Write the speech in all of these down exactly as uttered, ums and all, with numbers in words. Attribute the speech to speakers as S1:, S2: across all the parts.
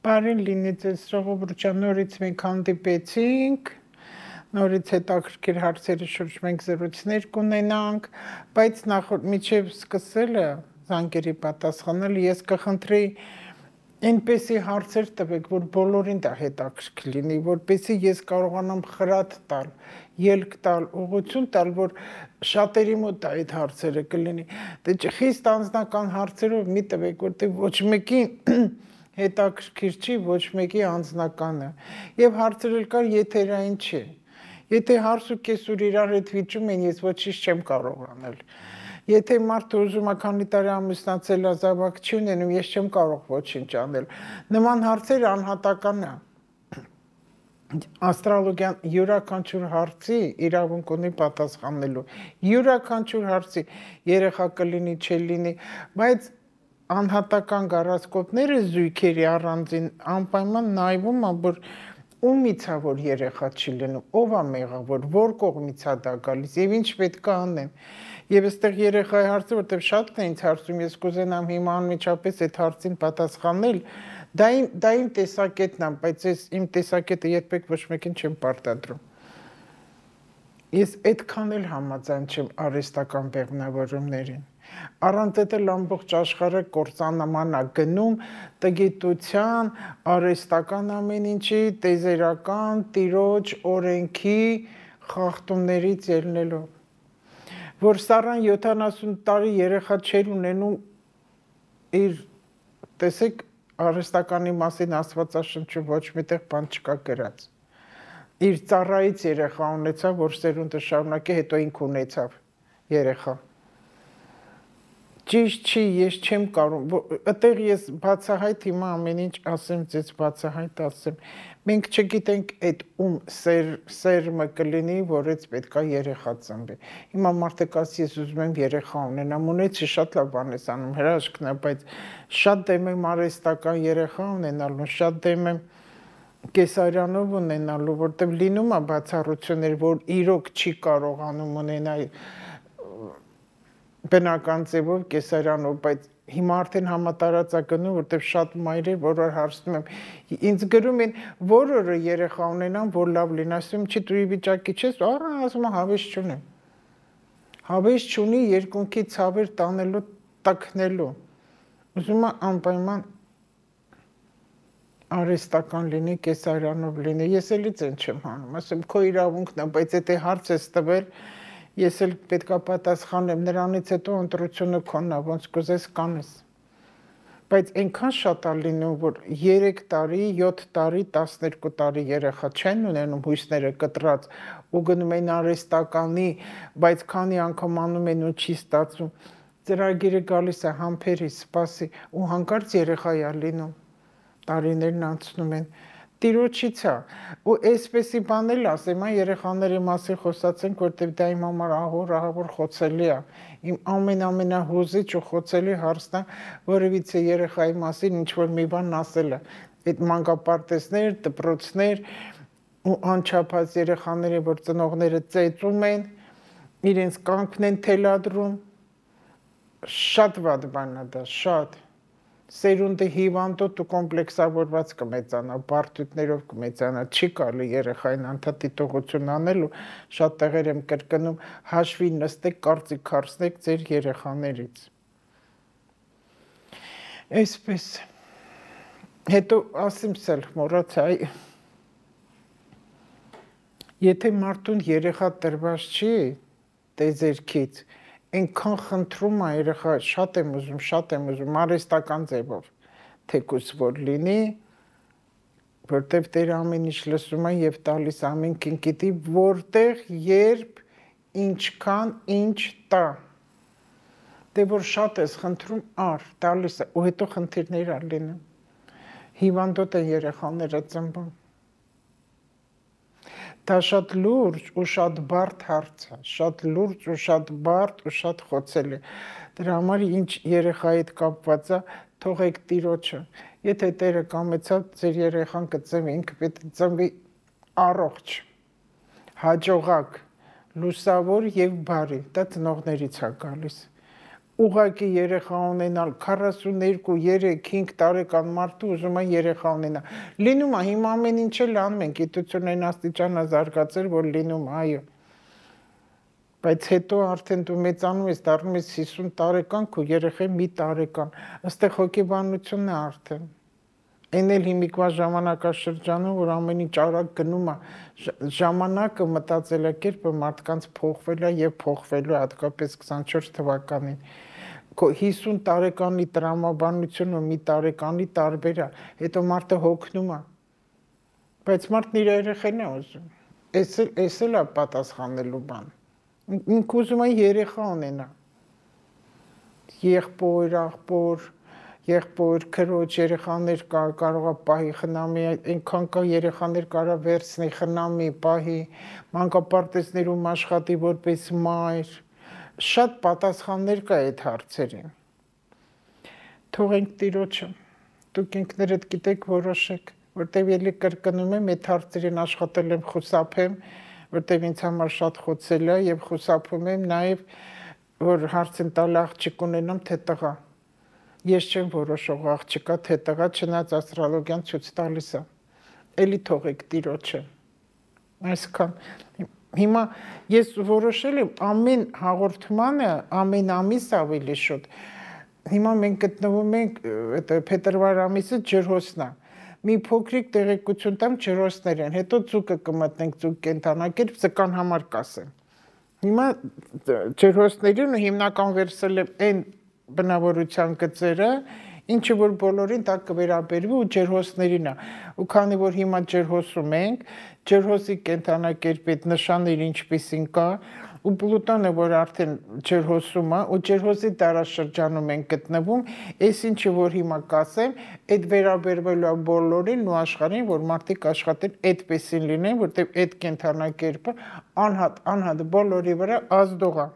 S1: Բարին լինի ձեզ Ժողովուրդ, նորից մենք հանդիպեցինք, նորից հետաքրքիր հարցերի շուրջ մենք զրույցներ կունենանք, բայց նախորդ միջև սկսելը զանգերի պատասխանել, ես կխնդրեի այնպեսի հարցեր տվեք, որ բոլորին դա հետաքրքիր լինի, որպեսզի ես կարողանամ խրատ տալ, ելք տալ, ուղղություն տալ, որ շատերի մոտ այդ հարցերը կլինի։ Դե խիստ անձնական հարցերով մի տվեք, որտեղ ոչ մեկի հետաքրքիր չի, ոչ մեկի անձնականը, եւ հարցերել կար եթերային չի, եթե հարց ու կեսուր իրար հետ վիճում են, ես ոչինչ չեմ կարող անել, եթե մարդը ուզում է քանի տարի ամուսնացել է, զավակ չի ունենում, ես չեմ կարող ոչինչ անել, նման հարցեր անհատական է, աստրոլոգիան յուրաքանչյուր հարցի իրավունք ունի պատասխանելու, յուրաքանչյուր հարցի երեխա կլինի, չլինի, բայց անհատական գարասկոպները զույգերի առանձին անպայման նայվում է, որ ումից է, որ երեխա չի լինում, ով է մեղավոր, որ կողմից է դա գալիս եւ ինչ պետք է անեմ։ Եվ այստեղ երեխայի հարցը, որտեղ շատն է ինձ հարցում, ես կուզենամ հիմա անմիջապես այդ հարցին պատասխանել, դա իմ դա իմ տեսակետն է, բայց ես իմ տեսակետը երբեք ոչ մեկին չեմ պարտադրում։ Ես այդքան էլ համաձայն չեմ արհեստական բեղմնավորումներին։ Առանց այդ էլ ամբողջ աշխարհը կործանման է գնում տգիտության, արհեստական ամեն ինչի, տեզերական, տիրոջ, օրենքի խախտումներից ելնելով։ Որ Սառան յոթանասուն տարի երեխա չէր ունենում իր, տեսեք, արհեստականի մասին Աստվածաշնչում ոչ միտեղ բան չկա գրած։ Իր ծառայից երեխա ունեցավ, որ սերունդը շարունակի, հետո ինք ունեցավ երեխա։ Ճիշտ չի, ես չեմ կարող, այդտեղ ես բացահայտ հիմա ամեն ինչ ասեմ, ձեզ բացահայտ ասեմ։ Մենք չգիտենք այդ ում սեր, սերմը կլինի, որից պետքա երեխա ծնվի։ Հիմա մարդը կասի, ես ուզում եմ երեխա ունենամ, ունեցի շատ լավ բան ես անում, հրաշքն է, բայց շատ դեմ եմ արհեստական երեխա ունենալու, շատ դեմ եմ կեսարյանով ունենալու, որտեղ լինում է բացառություններ, որ իրոք չի կարողանում ունենալ բնական ձևով կեսարյանով, բայց հիմա արդեն համատարած է գնում, որտեղ շատ մայրեր, որ հարցնում եմ, ինձ գրում են, որ օրը երեխա ունենամ, որ լավ լինի, ասում չի դու վիճակի չես, ահա ասում եմ հավես չունեմ։ Հավես չունի երկունքի ցավեր տանելու, տքնելու։ Ուզում եմ անպայման արհեստական լինի, կեսարյանով լինի, ես էլից են չեմ հանում, ասում քո իրավունքն է, բայց եթե հարց ես տվել, ես էլ պետք է պատասխանեմ, նրանից հետո ընտրությունը քոնն է, ոնց կուզես կանես։ Բայց այնքան շատ է լինում, որ երեք տարի, յոթ տարի, տասներկու տարի երեխա չեն ունենում հույսները կտրած ու գնում են արհեստականի, բայց քանի անգամ անում են ու չի ստացվում, ծրագիրը գալիս է համբերի, սպասի ու հանկարծ երեխա է լինում, տարիներն անցնում են, տիրոջից է, ու այսպեսի բան էլ ասեմ, երեխաների մասին խոսացենք, որտեղ դա իմ համար ահավոր, ահավոր խոցելի է, իմ ամեն-ամենահուզիչ ու խոցելի հարցն է, որևիցե երեխայի մասին ինչ-որ մի բան ասելը, այդ մանկապարտեզներ, դպրոցներ ու անչափահաս երեխաները, որ ծնողները ծեծում են, իրենց կյանքն են թելադրում, շատ վատ բան է դա, շատ Սերունդը հիվանդոտ ու կոմպլեքսավորված կմեծանա, բարդություններով կմեծանա, չի կարելի երեխային անդադիտողություն անել ու շատ տեղեր եմ կրկնում, հաշվի նստեք, կարծիք հարցնեք ձեր երեխաներից։ Այսպես, հետո ասեմ սել մոռացա, եթե մարդուն երեխա տրված չի տեզերքից, Այնքան խնդրում է երեխա, շատ եմ ուզում, շատ եմ ուզում, արհեստական ձևով, թեկուզ որ լինի, որտև Տերը ամեն ինչ լսում է և տալիս ամենքին գիտի, որտեղ, երբ, ինչքան, ինչ տա։ Դե որ շատ ես խնդրում, ար, տալիս է, ու հետո խնդիրներ է լինում։ Հիվանդոտ են երեխաները ծնվում։ Դա շատ լուրջ ու շատ բարդ հարց է, շատ լուրջ ու շատ բարդ ու շատ խոցելի։ Դրա համար ինչ երեխայի հետ կապված է, թողեք Տիրոջը։ Եթե Տերը կամեցավ, ձեր երեխան կծնվի, ինքը պետք է ծնվի առողջ, հաջողակ, լուսավոր եւ բարի, դա ծնողներից է գալիս։ ուղղակի երեխա ունենալ քառասուններկու, երեք, հինգ տարեկան մարդու ուզում է երեխա ունենա։ Լինում է հիմա ամեն ինչ էլ անում են, գիտությունն այն աստիճան է զարգացել, որ լինում է, այո։ Բայց հետո արդեն դու մեծանում ես, դառնում ես հիսուն տարեկան, քո երեխան մի տարեկան, այստեղ հոգեբանությունն է արդեն։ Այն էլ հիմիկվա ժամանակաշրջանում, որ ամեն ինչ արագ գնում է, ժամանակը մտածելակերպը մարդկանց փոխվել է եւ փոխվելու է հատկապես քսանչորս թվականին։ հիսուն տարեկանի տրամաբանությունը մի տարեկանի տարբեր է, հետո մարդը հոգնում է։ Բայց մարդն իր երեխան է ուզում։ Էս էլ է պատասխանելու բան։ Ինք ուզում է երեխա ունենա։ Եղբոր, աղբոր, եղբոր, քրոջ երեխաներ կարող է պահի խնամի, այնքան կա երեխաներ կարող վերցնի, խնամի, պահի, մանկապարտեզներում աշխատի որպես մայր։ Շատ պատասխաններ կա այդ հարցերին։ Թողենք Տիրոջը, դուք ինքներդ գիտեք, որոշեք, որտեվ ելի կրկնում եմ, այդ հարցերին աշխատել եմ, խուսափեմ, որտեվ ինձ համար շատ խոցել է եւ խուսափում եմ նաեւ, որ հարցին տալ աղջիկ ունենամ, թե տղա։ Ես չեմ որոշող աղջիկա, թե տղա, չնայած աստրոլոգիան ցույց տալիս է։ Էլի թողեք Տիրոջը։ Այսքան։ Հիմա ես որոշել եմ ամեն հաղորդմանը, ամեն ամիս ավելի շուտ։ Հիմա մենք գտնվում ենք փետրվար ամիսը ջրհոսնա։ Մի փոքրիկ տեղեկություն տամ ջրհոսներ են, հետո ծուկը կմտնենք, ծուկ կենթանակերպ զկան համար կասեմ։ Հիմա ջրհոսներին հիմնական վերցել եմ այն բնավորության գծերը, ինչը որ բոլորին դա կվերաբերվի ու ջրհոսներին է։ Ու քանի որ հիմա ջրհոսում ենք, ջրհոսի կենթանակերպի այդ նշանները ինչպիսին կա, ու Պլուտոնը, որ արդեն ջրհոսում է, ու ջրհոսի դարաշրջանում են գտնվում, այս ինչը որ հիմա կասեմ, այդ վերաբերվելու է բոլորին ու աշխարհին, որ մարդիկ աշխատեն այդպեսին լինեն, որտեղ այդ կենթանակերպը անհատ, անհատ բոլորի վրա ազդող է։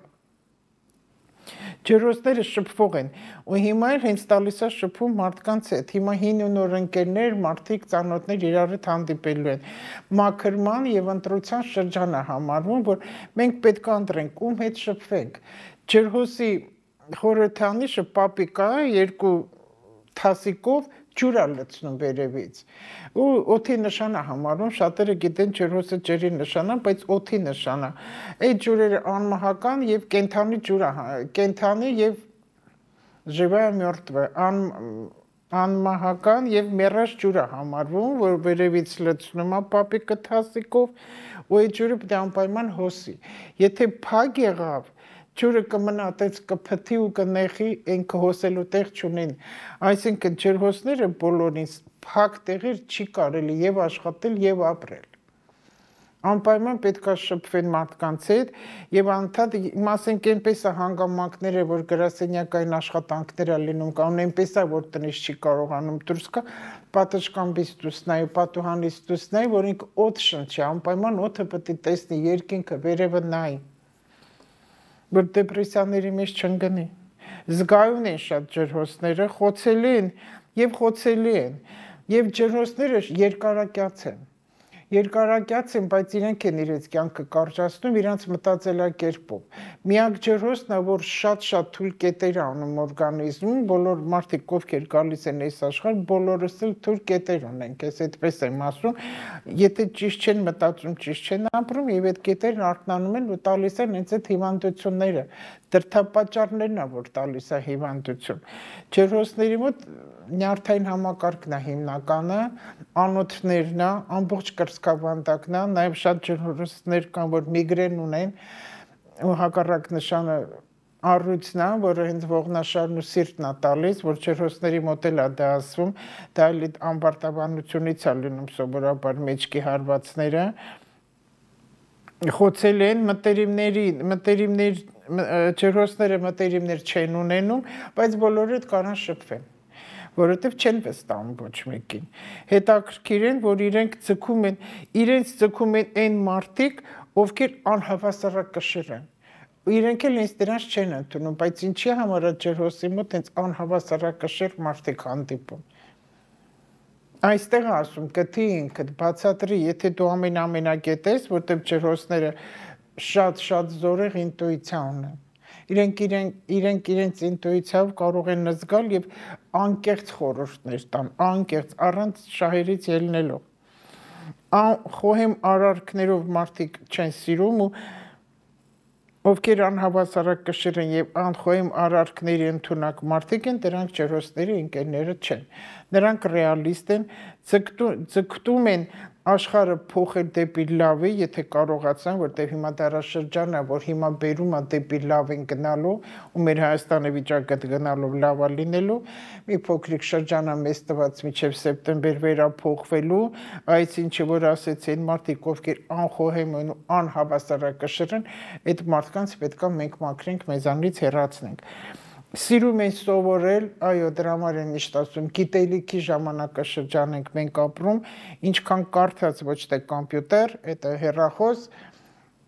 S1: Ջրհոսները շփվող են, ու հիմա էլ հենց տալիս է շփում մարդկանց հետ։ Հիմա հին ու նոր ընկերներ, մարդիկ, ծանոթներ իրար հետ հանդիպելու են։ Մաքրման եւ ընտրության շրջան է համարվում, որ մենք պետք է ընտրենք, ում հետ շփվենք։ Ջրհոսի խորհրդանիշը պապիկա է, երկու թասիկով ջուր է լցնում վերևից։ Ու օդի նշան է համարվում, շատերը գիտեն ջրհոսը ջրի նշան է, բայց օդի նշան է։ Այդ ջուրերը անմահական եւ կենթանի ջուր է, կենթանի եւ живая мертвая, անմահական եւ մեռած ջուր է համարվում, որ վերևից լցնում է պապիկը թասիկով, ու այդ ջուրը պետք է անպայման հոսի։ Եթե փակ եղավ, ջուրը կմնա, այդպես կփթի ու կնեխի, այն կհոսելու տեղ չունեն։ Այսինքն ջրհոսները բոլորին փակ տեղեր չի կարելի եւ աշխատել եւ ապրել։ Անպայման պետք է շփվեն մարդկանց հետ եւ անդադ ասենք այնպես է հանգամանքները, որ գրասենյակային աշխատանքներ է լինում, կամ այնպես է, որ տնից չի կարողանում դուրս գա, պատշգամբից դուրս նայ, պատուհանից դուրս նայ, որ ինք օդ շնչի, անպայման օդը պետք է տեսնի, երկինքը վերևը նայ, որ դեպրեսիաների մեջ չընկնի։ Զգայուն են շատ ջրհոսները, խոցելի են եւ խոցելի են, եւ ջրհոսները երկարակյաց են։ Երկարակյաց են, բայց իրենք են իրենց կյանքը կարճացնում իրենց մտածելակերպով։ Միակ ջրհոսն է, որ շատ-շատ թույլ կետեր անում օրգանիզմում, բոլոր մարդիկ ովքեր գալիս են այս աշխարհ, բոլորս էլ թույլ կետեր ունենք, ես այդպես եմ ասում, եթե ճիշտ չեն մտածում, ճիշտ չեն ապրում, եւ այդ կետերն արթնանում են ու տալիս են հենց այդ հիվանդությունները, դրդապատճառներն է, որ տալիս է հիվանդություն։ Ջրհոսների մոտ նյարդային համակարգն է հիմնականը, անոթներն է, ամբողջ կրծքավանդակն է, նաև շատ ջրհոսներ կան, որ միգրեն ունեն, ու հակառակ նշանը առույցն է, որը հենց ողնաշարն ու սիրտն է տալիս, որ ջրհոսների մոտ էլ է դա ասվում, դա էլ ամբարտավանությունից է լինում սովորաբար մեջքի հարվածները, խոցել են մտերիմների, մտերիմներ, ջրհոսները մտերիմներ չեն ունենում, բայց բոլորը կարան շփվեն, որովհետև չեն վստահում ոչ մեկին։ Հետաքրքիր են, որ իրենք ձգում են, իրենց ձգում են այն մարդիկ, ովքեր անհավասարակշիռ են։ Իրենք էլ ինձ դրանց չեն ընդունում, բայց ինչի համար է ջրհոսի մոտ հենց անհավասարակշիռ մարդիկ հանդիպում։ Այստեղ ասում, գտի ինքդ, բացատրի, եթե դու ամեն ամենակետ ես, որտեղ ջրհոսները շատ-շատ զորեղ ինտուիցիա ունեն։ Իրենք իրենք իրենց ինտուիցիայով կարող են զգալ եւ անկեղծ խորհուրդներ տան, անկեղծ առանց շահերից ելնելով։ Խոհեմ արարքներով մարդիկ չեն սիրում ու ովքեր անհավասարակշիռ են եւ անխոհեմ արարքների ընդունակ մարդիկ են, դրանք ջրհոսների ընկերները չեն։ Նրանք ռեալիստ են, ձգտում են աշխարհը փոխել դեպի լավը, եթե կարողացան, որտեղ հիմա դարաշրջանն է, որ հիմա բերում է դեպի լավ են գնալու, ու մեր Հայաստանի վիճակը գնալով լավա լինելու, մի փոքրիկ շրջան է մեզ տված մինչև սեպտեմբեր վերափոխվելու, այս ինչը որ ասեցի, այն մարդիկ, ովքեր անխոհեմ են ու անհավասարակշիռ են, այդ մարդկանց պետք է մենք մաքրենք, մեզանից հեռացնենք։ Սիրում են սովորել, այո, դրա համար են միշտ ասում, գիտելիքի ժամանակաշրջան ենք մենք ապրում, ինչքան կարդաց ոչ թե կոմպյուտեր, դա հեռախոս,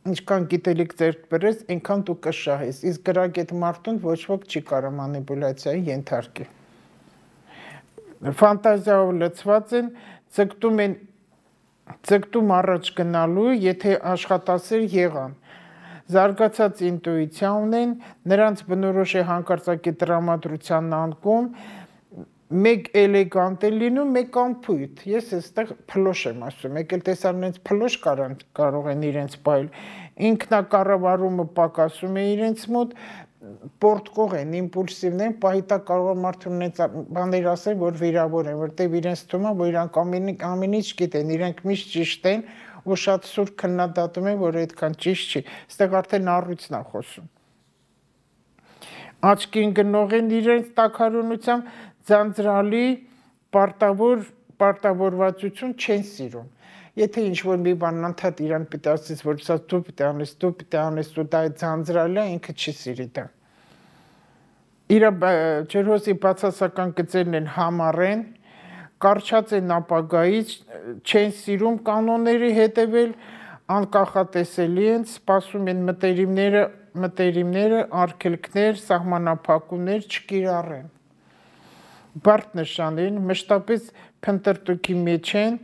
S1: ինչքան գիտելիք ձեռք բերես, այնքան դու կշահես, իսկ գրագետ մարդուն ոչ ոք չի կարող մանիպուլյացիայի ենթարկի։ Ֆանտազիայով լցված են, ձգտում են, ձգտում առաջ գնալու, եթե աշխատասեր եղան։ Զարգացած ինտուիցիա ունեն, նրանց բնորոշ է հանկարծակի տրամադրության անկում, մեկ էլեգանտ է լինում, մեկ անփույթ։ Ես այստեղ փլոշ եմ ասում, եկել տեսան իրենց փլոշ կարող են իրենց բայել, ինքնակառավարումը պակասում է իրենց մոտ, պորտկող են, իմպուլսիվ են, պահիտա կարող է մարդուն իրենց բաներ ասել, որ վիրավոր են, որտեղ իրենց թվում է, որ իրանք ամեն ինչ գիտեն, իրենք միշտ ճիշտ են, ու շատ սուր քննադատում են, որ այդքան ճիշտ չի, այստեղ արդեն առույցն է խոսում։ Աչքին գնող են իրենց տաքարյունությամբ, ձանձրալի պարտավորվածություն չեն սիրում։ Եթե ինչ-որ մի բան անդադ իրան պիտի ասես, որ սա դու պիտի անես, դու պիտի անես, ու դա ձանձրալի է, ինքը չի սիրի դա։ Իր ջրհոսի բացասական գծերն են համառեն, կարճած են ապագայից, չեն սիրում կանոնների հետևել, անկախատեսելի են, սպասում են մտերիմները, մտերիմները, արգելքներ, սահմանափակումներ չկիրառեն։ Բարդ նշան են, մշտապես փնտրտուքի մեջ են,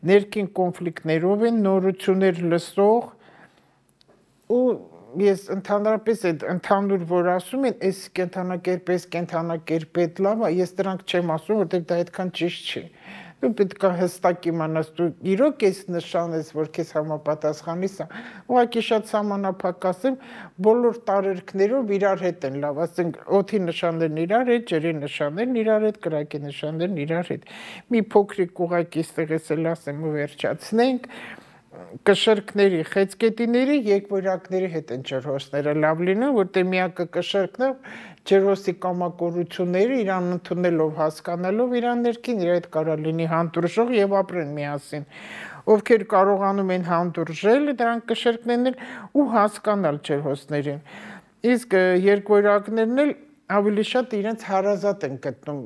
S1: ներքին կոնֆլիկտներով են, նորություններ լսող, ու ես ընդհանրապես այդ ընդհանուր որ ասում են, այս կենթանակերպ, այս կենթանակերպ էդ լավ է, ես դրանք չեմ ասում, որտեղ դա այդքան ճիշտ չի։ Դու պետք է հստակ իմանաս, դու իրոք ես նշան ես, որ քեզ համապատասխանիս է, ուղղակի շատ սահմանափակ ասեմ, բոլոր տարերքներով իրար հետ են լավ, ասենք օդի նշաններն իրար հետ, ջրի նշաններն իրար հետ, կրակի նշաններն իրար հետ։ Մի փոքրիկ ուղղակի ստեղից էլ ասեմ ու վերջացնենք, կշրկների, խեցգետիների, երկվորյակների հետ են ջրհոսները լավ լինում, որտեղ միակը կշրկն է, ջրհոսի կամակորությունները իրան ընդունելով, հասկանալով իրան ներքին, իր հետ կարող լինի հանդուրժող եւ ապրեն միասին։ Ովքեր կարողանում են հանդուրժել, դրանք կշրկներն են ու հասկանալ ջրհոսներին։ Իսկ երկվորյակներն էլ ավելի շատ իրենց հարազատ են գտնում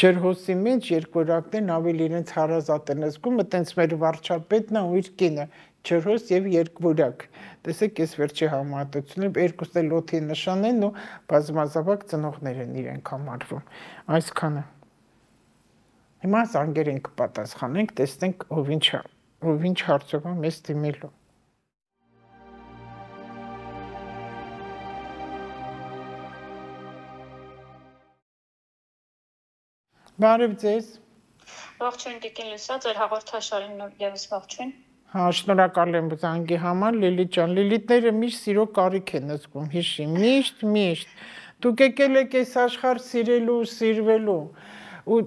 S1: ջրհոսի մեջ երկվորյակներն ավելի իրենց հարազատ են զգում, այտենց մեր վարչապետն է ու իր կինը, ջրհոս եւ երկվորյակ։ Տեսեք, ես վերջի համատությունում երկուսն էլ օդի նշան են ու բազմազավակ ծնողներ են իրենք համարվում։ Այսքանը։ Հիմա զանգերին կպատասխանենք, տեսնենք ով ինչ ով ինչ հարցով է մեզ դիմելու։ Բարև ձեզ։
S2: Ողջույն Տիկին Լուսա, ձեր հաղորդաշարին ևս ողջույն։
S1: Հա, շնորհակալ եմ զանգի համար, Լիլիթ ջան։ Լիլիթները միշտ սիրո կարիք են զգում, հիշի, միշտ, միշտ։ Դուք եկել եք այս աշխարհ սիրելու, սիրվելու։ Ու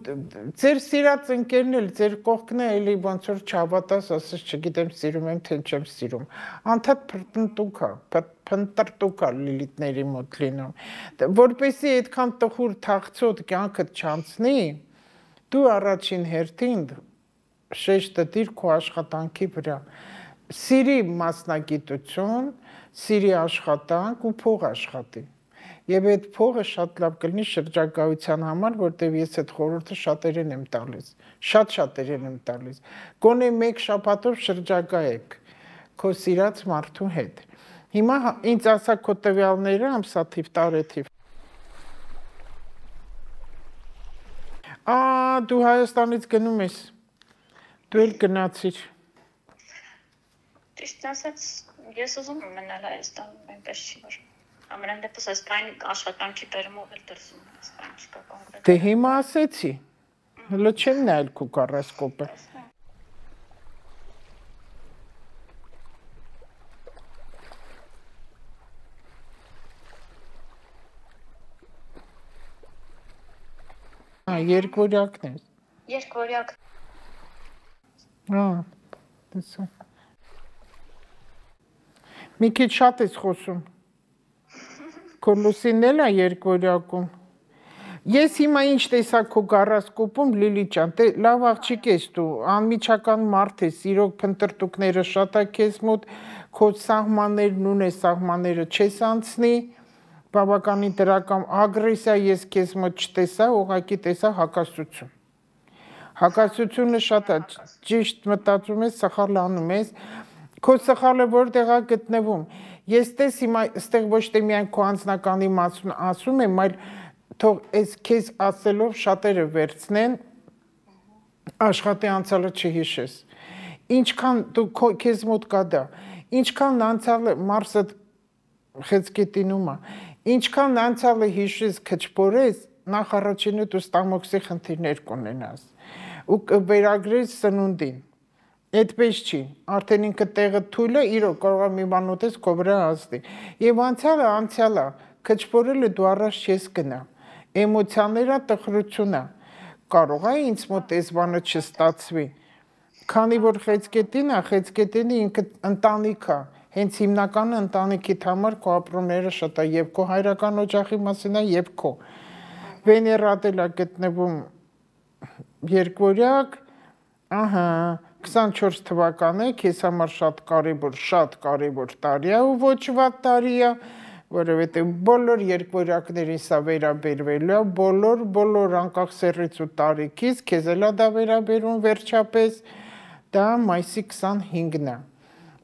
S1: ձեր սիրած ընկերն էլ, ձեր կողքն է, էլի ոնց որ չհավատաս, ասես չգիտեմ սիրում եմ, թե չեմ սիրում։ Անդադ փնտրտուք է, փնտրտուք է Լիլիթների մոտ լինում։ Որպեսզի այդքան տխուր թախծոտ կյանքդ չանցնի, դու առաջին հերթին շեշտը դիր քո աշխատանքի վրա։ Սիրի մասնագիտություն, սիրի աշխատանք ու փող աշխատի։ Եվ այդ փողը շատ լավ կլինի շրջագայության համար, որտեղ ես այդ խորհուրդը շատերին եմ տալիս, շատ շատերին եմ տալիս։ Գոնե մեկ շաբաթով շրջագայեք քո սիրած մարդու հետ։ Հիմա ինձ ասա քո տվյալները, ամսաթիվ, տարեթիվ։ Ա, դու Հայաստանից գնում ես։ Դու էլ գնացիր։
S2: Ճիշտ ասած, ես ուզում եմ մնալ Հայաստանում, այնպես չի որ։ Ամենայն դեպս այսքան աշխատանքի բերումով էլ դրսում եմ, այսքան չկա կոնկրետ։
S1: Դե հիմա ասեցի։ Հələ չեմ նայել քո կառասկոպը։ Ա, երկվորյակն է։
S2: Երկվորյակ։
S1: Ա, տեսա։ Մի քիչ շատ ես խոսում։ Քո լուսինն էլ է երկվորյակում։ Ես հիմա ինչ տեսա քո գարասկոպում Լիլի ջան, դե լավ աղջիկ ես դու, անմիջական մարդ ես, իրոք փնտրտուքները շատ է քեզ մոտ, քո սահմաններն ունես, սահմանները չես անցնի, բավականին դրական ագրեսիա ես քեզ մոտ չտեսա, ուղղակի տեսա հակասություն։ Հակասությունը շատ է, ճիշտ մտածում ես, սխալ անում ես, քո սխալը որտեղ է գտնվում։ Ես տես հիմա այստեղ ոչ թե միայն քո անձնականի մասին ասում եմ, այլ թող այս քեզ ասելով շատերը վերցնեն, աշխատի անցյալը չհիշես։ Ինչքան դու քեզ մոտ կա դա, ինչքան անցյալը Մարսը խեցգետինում է, ինչքան անցյալը հիշես քչփորես, նախ առաջինը դու ստամոքսի խնդիրներ կունենաս ու կվերագրես սնունդին։ Այդպես չի, արդեն ինքը տեղը թույլ է, իրոք կարող է մի բան ուտես քո վրա ազդի։ Եվ անցյալը անցյալ է, քչփորելը դու առաջ չես գնա։ Էմոցիաները տխրություն է։ Կարող է ինձ մոտ այս բանը չստացվի։ Քանի որ խեցգետին է, խեցգետինը ինքը ընտանիք է։ Հենց հիմնականը ընտանիքիդ համար քո ապրումները շատ է, եւ քո հայրական օջախի մասին է, եւ քո։ Վեներան էլ է գտնվում երկվորյակ, ահա քսանչորս թվականը քեզ համար շատ կարևոր, շատ կարևոր տարի է ու ոչ վատ տարի է, որովհետև բոլոր երկվորյակներին սա վերաբերվելու է, բոլոր, բոլոր անկախ սեռից ու տարիքից, քեզ էլ է դա վերաբերում վերջապես, դա մայիսի քսանհինգն է։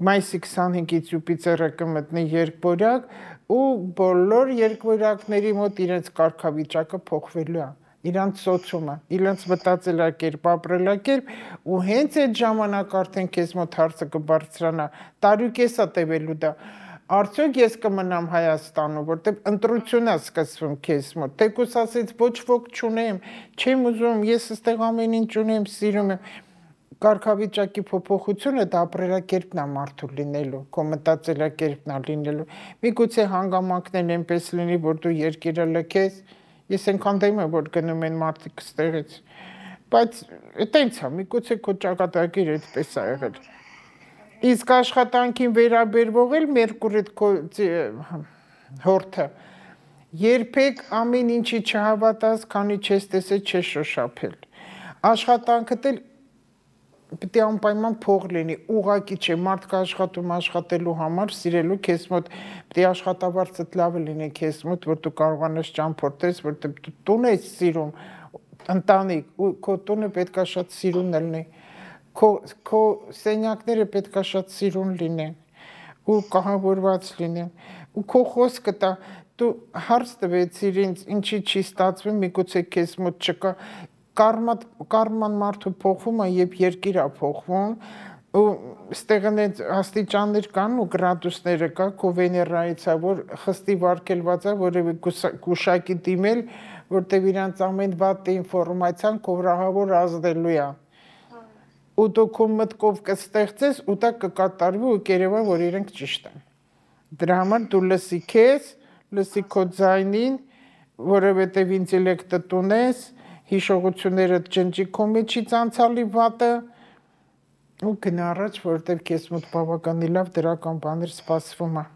S1: Մայիսի քսանհինգից Յուպիտերը կմտնի երկվորյակ ու բոլոր երկվորյակների մոտ իրենց կարգավիճակը փոխվելու է։ Իրանց սոցիումը, իրանց մտածելակերպ, ապրելակերպ ու հենց այդ ժամանակ արդեն քեզ մոտ հարցը կբարձրանա, տարի կես է տևելու դա։ Արդյոք ես կմնամ Հայաստանում, որտեղ ընտրություն է սկսվում քեզ մոտ, թեկուզ ասեց ոչ ոք չունեմ, չեմ ուզում, ես այստեղ ամեն ինչ ունեմ, սիրում եմ։ Կարգավիճակի փոփոխությունը դա ապրելակերպն է մարդու լինելու, քո մտածելակերպն է լինելու։ Միգուցե հանգամանքներն այնպես լինի, որ դու երկիրը լքես, ես այնքան դեմ եմ, որ գնում են մարդիկ ստեղից, բայց այտենց է, միգուցե քո ճակատագիրը այդպես է եղել։ Իսկ աշխատանքին վերաբերվող էլ Մերկուրիդ քո հորթը, երբեք ամեն ինչի չհավատաս, քանի չես տեսել, չես շոշափել։ Աշխատանքդ էլ պետք է անպայման փող լինի, ուղղակի չէ, մարդը աշխատում աշխատելու համար, սիրելու քեզ մոտ, պետք է աշխատավարձդ լավը լինի քեզ մոտ, որ դու կարողանաս ճամփորդես, որտեղ դու տուն ես սիրում, ընտանիք, ու քո տունը պետք է շատ սիրուն լինի, քո քո սենյակները պետք է շատ սիրուն լինեն, ու կահավորված լինեն, ու քո խոսքը դա դու հարց տվեցիր ինձ, ինչի չի ստացվում, միգուցե քեզ մոտ չկա Կարման մարդու փոխվում է, երբ երկիրը փոխվում, ու ստեղն այդ աստիճաններ կան ու գրադուսները կա, քո Վեներայից է, որ խստի վարկելված է, որևէ գուշակի դիմել, որտեղ իրանց ամեն վատ ինֆորմացիան քո վրահավոր ազդելու է։ Ու դու քո մտքով կստեղծես, ու դա կկատարվի ու կերևա, որ իրենք ճիշտ են։ Դրա համար դու լսի քեզ, լսի քո ձայնին, որովհետև ինտելեկտդ ունես, հիշողությունները ջնջի քո մեջից անցյալի վատը ու գնա առաջ, որովհետև քեզ մոտ բավականին լավ դրական բաներ սպասվում է։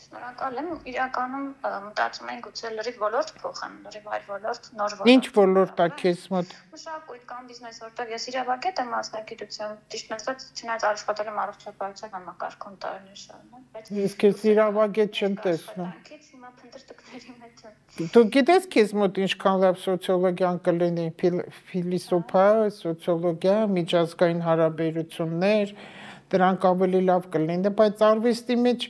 S2: Շնորհակալ եմ, իրականում մտածում եմ գուցե լրիվ ոլորտ փոխեմ, լրիվ այլ ոլորտ, նոր ոլորտ։
S1: Ինչ ոլորտ է քեզ մոտ։
S2: Մշակույթ կամ բիզնես, որտեղ ես իրավագետ եմ մասնագիտությամբ, ճիշտ ասած, չնայած աշխատել եմ առողջապահության համակարգում տարիներ շարունակ, բայց
S1: ես քեզ իրավագետ չեմ տեսնում։
S2: Հիմա փնտրտուքների մեջ եմ։
S1: Դու գիտես քեզ մոտ ինչքան լավ սոցիոլոգիան կլինի, ֆիլիսոփա, սոցիոլոգիա, միջազգային հարաբերություններ, դրանք ավելի լավ կլինի, բայց արվեստի մեջ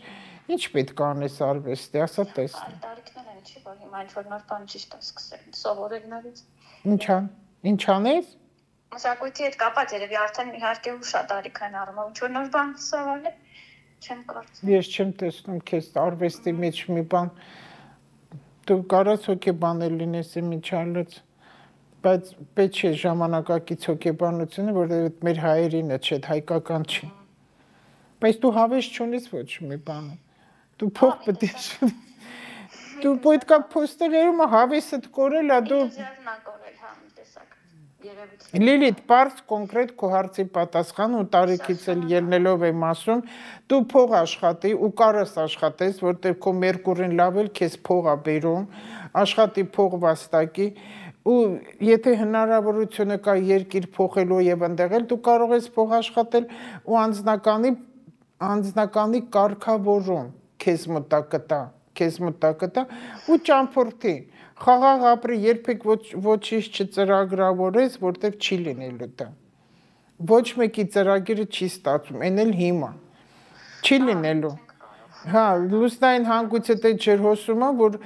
S1: ինչ պետք է անես արվեստի, ասա տեսնի։
S2: Տարիքներ են, չի, որ հիմա ինչ որ նոր բան ճիշտ է սկսել, սովորել նորից։
S1: Ինչ ան, ինչ անես։
S2: Մշակույթի հետ կապած երևի արդեն իհարկե ու շատ արիքային առումով ինչ որ նոր բան սովորել չեմ կարծում։
S1: Ես չեմ տեսնում քեզ արվեստի մեջ մի բան դու կարաս հոգեբանել լինես իմիջալից, բայց պետք չէ ժամանակակից հոգեբանությունը, որովհետև մեր հայերինը չէ, հայկական չի։ Բայց դու հավես չունես ոչ մի բանը։ Դու փող պետք է դու պետք է փոստերում հավեսդ կորել, դու Լիլիթ, պարզ կոնկրետ քո հարցի պատասխան ու տարիքից էլ ելնելով եմ ասում, դու փող աշխատի ու կարաս աշխատես, որտեղ քո մերկուրին լավ էլ քեզ փող է բերում, աշխատի փող վաստակի ու եթե հնարավորությունը կա երկիր փոխելու եւ ընդեղել, դու կարող ես փող աշխատել ու անձնականի անձնականի կարգավորում քեզ մտակտա, քեզ մտակտա ու ճամփորդի Խաղաղ ապրի, երբեք ոչինչ չծրագրավորես, որտեղ չի լինելու դա։ Ոչ մեկի ծրագիրը չի ստացվում, այն էլ հիմա։ Չի լինելու։ Հա, լուսնային հանգույցդ այդ ջրհոսումը, որ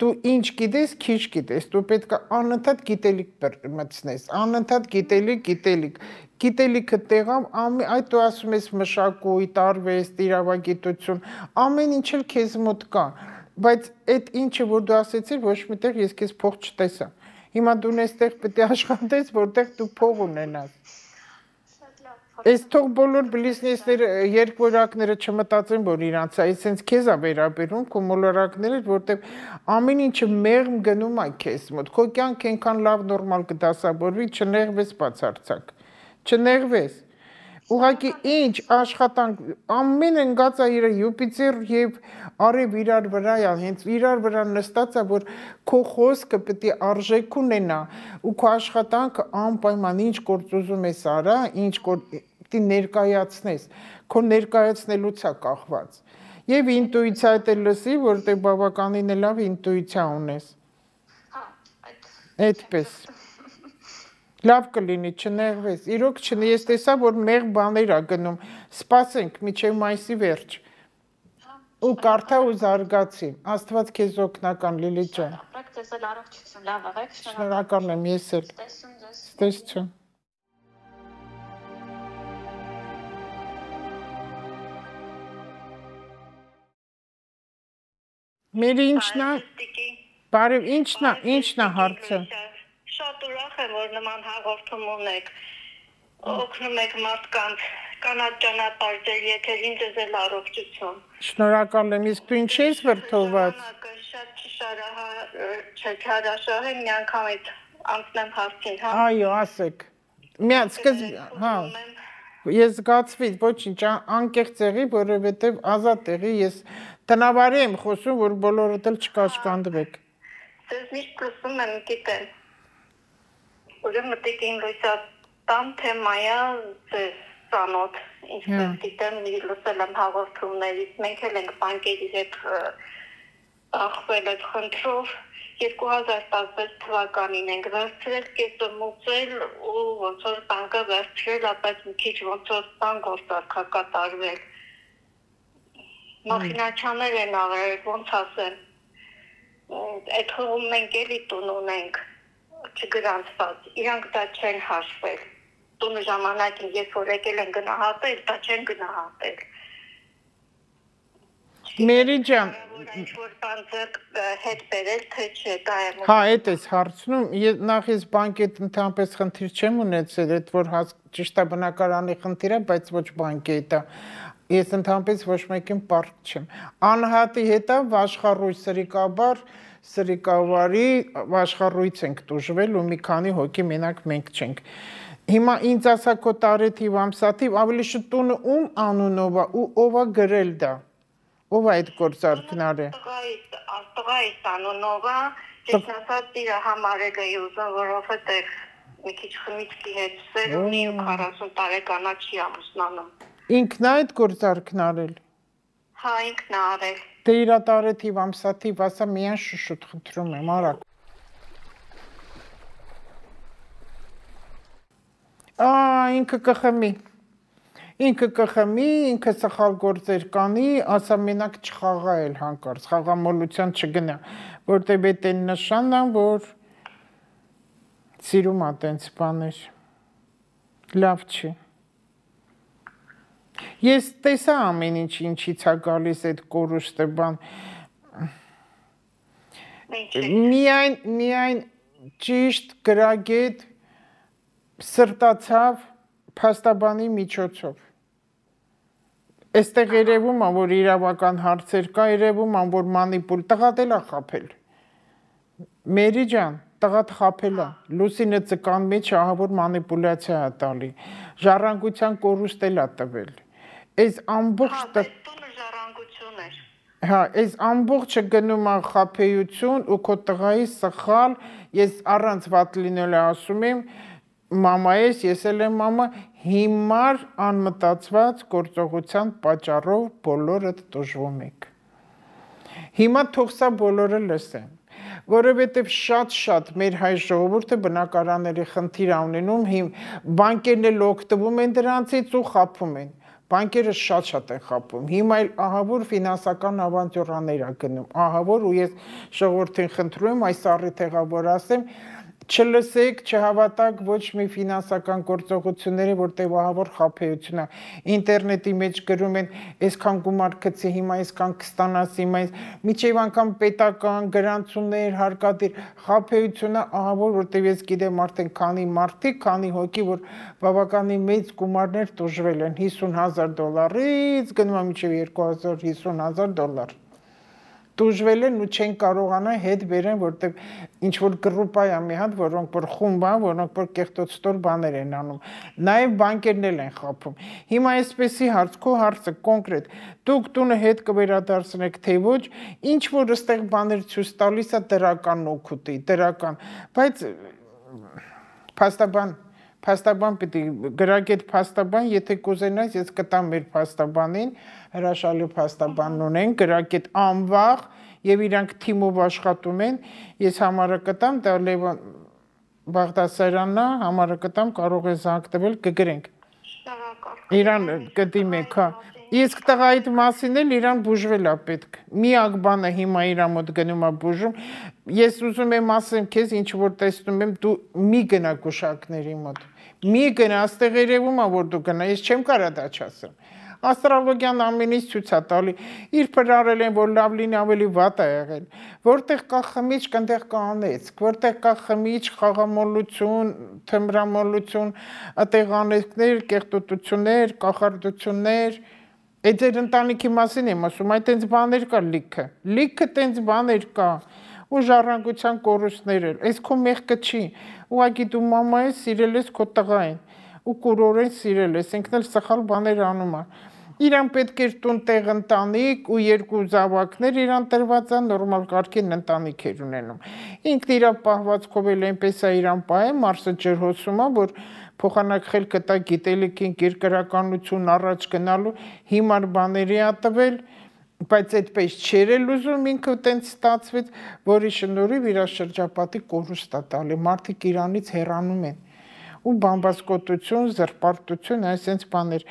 S1: դու ինչ գիտես, քիչ գիտես, դու պետք է անընդհատ գիտելիք մտցնես, անընդհատ գիտելիք, գիտելիք։ Գիտելիքը տեղամ, այդ դու ասում ես մշակույթ, արվեստ, իրավագիտություն, ամեն ինչ էլ քեզ մոտ կա։ Բայց այդ ինչը որ դու ասեցիր, ոչ միտեղ ես քեզ փող չտեսա։ Հիմա դու նստեղ պետք է աշխատես, որտեղ դու փող ունենաս։ Այս թող բոլոր բիզնեսները, երկվորակները չմտածեն, որ իրանց է, այսինքն քեզ է վերաբերում, քո մոլորակները, որտեղ ամեն ինչը մեղմ գնում է քեզ մոտ։ Քո կյանքը այնքան լավ նորմալ կդասավորվի, չնեղվես բացարձակ։ Չնեղվես։ Ուղղակի ինչ աշխատանք ամեն ընկած է իր Յուպիտեր եւ արև իրար վրա է, հենց իրար վրա նստած է, որ քո խոսքը պետք է արժեք ունենա ու քո աշխատանքը անպայման ինչ գործ ուզում ես արա, ինչ պետք է ներկայացնես, քո ներկայացնելուց է կախված։ Եվ ինտուիցիա հետ էլ լսի, որտեղ բավականին լավ ինտուիցիա ունես։
S2: Հա,
S1: այդպես։ Լավ կլինի, չնեղվես, իրոք չնե, ես տեսա, որ մեղ բաներ ա գնում, սպասենք, միջև մայիսի վերջ, ու կարթա ու զարգացի, աստված քեզ օգնական, Լիլիթ ջան։
S2: Ապրեք ձեզ էլ առողջություն, լավ աղեք,
S1: շնորհակալ եմ, ես էլ, տեսություն։ Մեր ինչն է, բարև, ինչն է հարցը։
S3: Շատ ուրախ եմ, որ նման հաղորդում ունեք, օգնում եք մարդկանց, կանաչ ճանապարհել, եթերին ձեզ էլ առողջություն։
S1: Շնորհակալ եմ, իսկ դու ինչ ես վրդոված։
S3: Շատ չհարաշահ եմ, մի անգամ այդ անցնեմ հարցին, հա։
S1: Այո, ասեք։ Միած սկզբ, հա։ Ես զգացվի, ոչինչ, անկեղծ եղի, որովհետև ազատ եղի, ես տնավարի եմ խոսում, որ բոլորդ էլ չկաշկանդվեք։
S3: Ձեզ միշտ լսում եմ, գիտեմ։ Ուրեմն մտիկ իմ լույսատան թեմայա ձեզ ծանոթ, ինչպես գիտեմ, լսել եմ հաղորդումներից, մենք էլ ենք բանկերի հետ ախվել այդ խնդրով, երկու հազար տասնվեց թվականին ենք վերցրել, կետը մուծել ու ոնց որ բանկը վերցրել, ապēc մի քիչ ոնց որ բան գործարքա կատարվել։ Մախինաչաներ են աղել, ոնց ասեմ, այդ հողում մենք էլի տուն ունենք, չգրանցված, իրանք դա չեն հաշվել, տունը ժամանակին ես որ եկել են գնահատել, դա չեն գնահատել։
S1: Մերի ջան,
S3: ինչ-որ բան ձեռք հետ բերել, թե չէ, դա եմ։
S1: Հա, էդ ես հարցնում, նախ ես բանկի հետ ընդհանրապես խնդիր չեմ ունեցել, այդ որ ճիշտ է բնակարանի խնդիր է, բայց ոչ բանկի հետ է։ Ես ընդհանրապես ոչ մեկին պարտք չեմ։ Անհատի հետ է Վաշխառույց Սրիկաբար Սրիկավարի Վաշխառույց ենք տուժվել ու մի քանի հոգի մենակ մենք չենք։ Հիմա ինձ ասա քո տարեթիվ ամսաթիվ ավելի շուտ տունը ում անունով է ու ով է գրել դա։ Ով է այդ գործարքները։
S3: Տղայիս անունով է, ես ասած իր համարել էի ուզում, որովհետև մի քիչ խմիչքի հետ սեր ունի ու քառասուն տարեկանա չի ամուսնանում։
S1: Ինքն է այդ գործարքն արել։
S3: Հա, ինքն է արել։
S1: Դե իր տարեթիվ ամսաթիվ ասա միայն շուշուտ խնդրում եմ, արագ։ Ա, ինքը կխմի։ Ինքը կխմի, ինքը սխալ գործեր կանի, ասա մենակ չխաղա էլ հանկարծ, խաղամոլության չգնա, որտեղ այդ են նշանն է, որ սիրում է տենց բաներ։ Լավ չի։ Ես տեսա ամեն ինչ ինչից է գալիս այդ կորուստը բան։ Միայն միայն ճիշտ գրագետ սրտացավ փաստաբանի միջոցով։ Այստեղ երևում է, որ իրավական հարցեր կա, երևում է, որ մանիպուլ տղատ էլ է խաբել։ Մերի ջան, տղատ խաբել է։ Լուսինը ծկան մեջ ահա որ մանիպուլյացիա է տալի։ Ժառանգության կորուստ էլ է տվել։ Այս ամբողջ
S3: տունը ժառանգություն էր։
S1: Հա, այս ամբողջը գնում է խաբեություն ու քո տղայի սխալ, ես առանց վատ լինել ասում եմ, մամա ես, ես էլ եմ մամա, հիմար անմտածված գործողության պատճառով բոլորդ տուժվում եք։ Հիմա թող սա բոլորը լսեն, որովհետև շատ-շատ մեր հայ ժողովուրդը բնակարանների խնդիր ունենում, բանկերն էլ օգտվում են դրանցից ու խաբում են։ Բանկերը շատ-շատ են խաբում։ Հիմա էլ ահա որ ֆինանսական ավանտյուրաներ է գնում։ Ահա որ ու ես ժողովրդին խնդրում եմ այս առիթեղա որ ասեմ, չլսեք, չհավատակ ոչ մի ֆինանսական գործողությունների, որտեղ ահա որ խաբեություն է։ Ինտերնետի մեջ գրում են, այսքան գումար գցի, հիմա այսքան կստանաս, հիմա միջև անգամ պետական գրանցումներ, հարկադիր խաբեությունը, ահա որ որտեղ ես գիտեմ արդեն քանի մարդիկ, քանի հոգի, որ բավականին մեծ գումարներ տուժվել են, հիսուն հազար դոլարից գնում է մինչև երկու հազար հիսուն հազար դոլար։ Տուժվել են ու չեն կարողանա հետ բերեն, որտեղ ինչ որ գրուպա է մի հատ, որոնք որ խումբ են, որոնք որ կեղտոտստոր բաներ են անում։ Նաև բանկերն էլ են խաբում։ Հիմա այսպեսի հարց, քո հարցը կոնկրետ, դուք տունը հետ կվերադարձնեք, թե ոչ, ինչ որ այստեղ բաներ ցույց տալիս է դրական օգուտի, դրական, բայց փաստաբան Փաստաբան պիտի գրագետ փաստաբան, եթե կուզենաս, ես կտամ մեր փաստաբանին, հրաշալի փաստաբան ունեն, գրագետ անվաղ եւ իրանք թիմով աշխատում են, ես համարը կտամ, դա Լևոն Բաղդասարյանն է, համարը կտամ, կարող է զանգ տվել, կգրենք։ Իրան կդիմեք, հա։ Իսկ տղայիդ մասին էլ իրան բուժվել է պետք։ Միակ բանը հիմա իրա մոտ գնում է բուժում։ Ես ուզում եմ ասեմ քեզ, ինչ որ տեսնում եմ, դու մի գնա գուշակների մոտ։ Մի գնա, աստեղ երևում է, որ դու գնա, ես չեմ կարա դա չասեմ։ Աստրոլոգիան ամեն ինչ ցույց է տալի։ Իր փրարել են, որ լավ լինի, ավելի վատ է եղել։ Որտեղ կա խմիչք, այնտեղ կա անեծք, որտեղ կա խմիչք, խաղամոլություն, թմրամոլություն, այդտեղ անեծքներ, կեղտոտություններ, կախարդություններ։ Այդ ձեր ընտանիքի մասին եմ ասում, այդ տենց բաներ կա լիքը, լիքը տենց բաներ կա, ու ժառանգության կորուստներ էլ, այս քո մեղքը չի, ուղղակի դու մամա ես, սիրել ես քո տղային, ու կուրորեն սիրել ես, ինքն էլ սխալ բաներ անում է, իրան պետք էր տուն տեղ ընտանիք ու երկու զավակներ իրան տրված է, նորմալ կարգին ընտանիք էր ունենում, ինքն իրա պահվածքով էլ այնպես է իրան պահե, Մարսը ջրհոսում է, որ փոխանակել կտա գիտելիքին, երկրականություն առաջ գնալու հիմար բաների ա տվել, բայց այդպես չէր էլ ուզում, ինքը տենց ստացվեց, որի շնորհիվ իր շրջապատի կորուստ է տալի, մարդիկ իրանից հեռանում են, ու բամբասկոտություն, զրպարտություն, այսպես բաներ,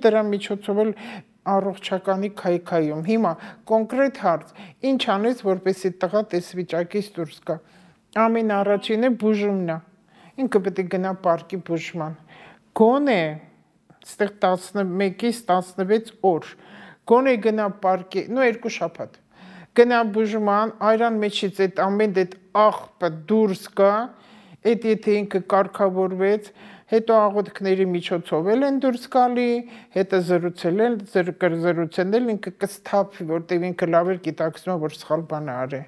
S1: դրա միջոցով էլ առողջականի քայքայում, հիմա կոնկրետ հարց, ինչ անես, որպեսզի տղա տես վիճակից դուրս գա, ամեն առաջինը բուժումն է, ինքը պետք է գնա պարկի բուժման, գոնե, ստեղ տասնմեկից տասնվեց օր, գոնե գնա պարկի, նո երկու շաբաթ, գնա բուժման, այրան մեջից այդ ամեն այդ աղբը դուրս գա, այդ եթե ինքը կարգավորվեց, հետո աղոթքների միջոցով էլ են դուրս գալի, հետը զրուցել են, զրուցել են, ինքը կստափվի, որտեղ ինքը լավ էր գիտակցում, որ սխալ բան է արել,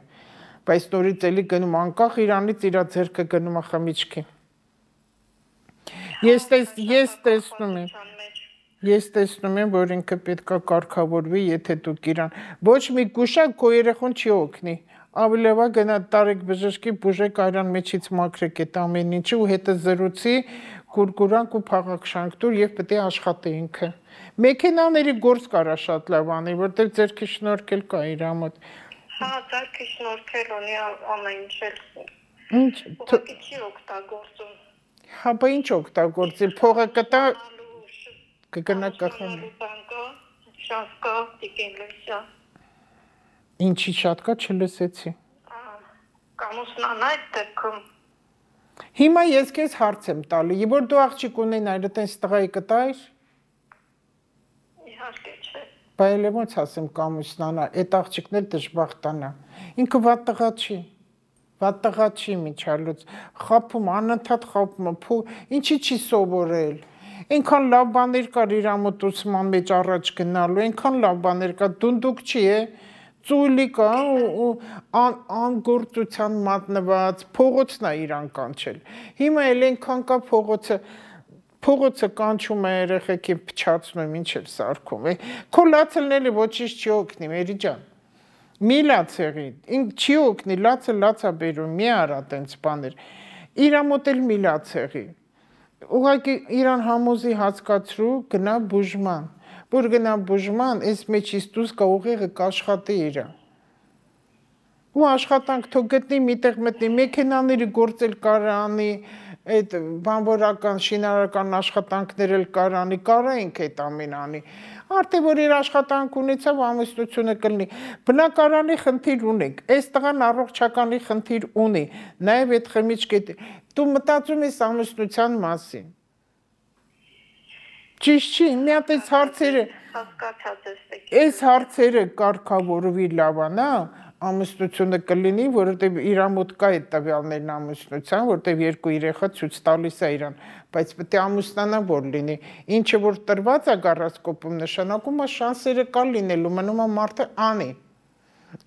S1: բայց նորից էլի գնում անկախ իրանից իրա ձեռքը գնում է խմիչքի։ Ես տեսնում եմ, ես տեսնում եմ, որ ինքը պետք է կարգավորվի, եթե դուք իրան, ոչ մի գուշակ քո երեխուն չի օգնի, ավելի լավ է գնա տարեք բժշկի բուժեք այրան մեջից մաքրեք այդ ամեն ինչը ու հետը զրուցի, գուրգուրանք ու փաղաքշանք տուր եւ պետք է աշխատի ինքը։ Մեքենաների գործ կարա շատ լավ անի, որտեղ ձերքի շնորհքել կա իր մոտ։
S3: Հա, ձերքի շնորհքել ունի ամեն ինչ էլ։
S1: Ինչ,
S3: ուղղակի չի օգտագործում։
S1: Հա, բա ինչ օգտագործի, փողը կտա կգնա կախանի։
S3: Շատ կա, տիկին լույսա։
S1: Ինչի շատ կա, չլսեցի։
S3: Կամուսնան այդ դեպքում։
S1: Հիմա ես քեզ հարց եմ տալի, որ դու աղջիկ ունեն այլ այդպես տղայի կտայր։
S3: Իհարկե չէ։
S1: Բայց ոնց ասեմ կամուսնանա, այդ աղջիկն էլ դժբախտանա։ Ինքը վատ տղա չի։ Վատ տղա չի միջալուց։ Խափում, անընդհատ խափում, փու, ինչի չի սովորել։ Այնքան լավ բաներ կար իր ամոթուսման մեջ առաջ գնալու, այնքան լավ բաներ կա, դունդուկ չի է, ծույլի կա ու անգործության մատնված, փողոցն է իրան կանչել։ Հիմա էլ այնքան կա փողոցը, փողոցը կանչում է երեխեքին փչացնում, ինչ էլ սարքում է։ Քո լացելն էլի ոչինչ չի օգնի, Մերի ջան։ Մի լաց եղի, չի օգնի, լացը լացա բերում, մի արա տենց բաներ։ Իրա մոտ էլ մի լաց եղի։ Ուղղակի իրան համոզի հասկացրու գնա բուժման, որ գնա բուժման, այս մեջից դուրս կա ուղեղը կաշխատի իրա։ Ու աշխատանք թող գտնի միտեղ մտնի, մեքենաների գործել կարանի, այդ բանվորական, շինարարական աշխատանքներ էլ կարանի, կարայինք այդ ամեն անի։ Արդեն որ իր աշխատանք ունեցավ, ամուսնությունը կլինի։ Բնակարանի խնդիր ունենք, այս տղան առողջականի խնդիր ունի, նաև այդ խմիչք է։ Դու մտածում ես ամուսնության մասին։ Ճիշտ չի, մի հատ այս հարցերը, այս հարցերը կարգավորվի լավանա, ամուսնությունը կլինի, որովհետև իր մոտ կա այդ տվյալներն ամուսնության, որովհետև երկու երեխա ցույց տալիս է իրան, բայց պետք է ամուսնանա որ լինի։ Ինչը որ տրված է գարասկոպում նշանակում է շանսերը կա լինելու, մնում է մարդը անի։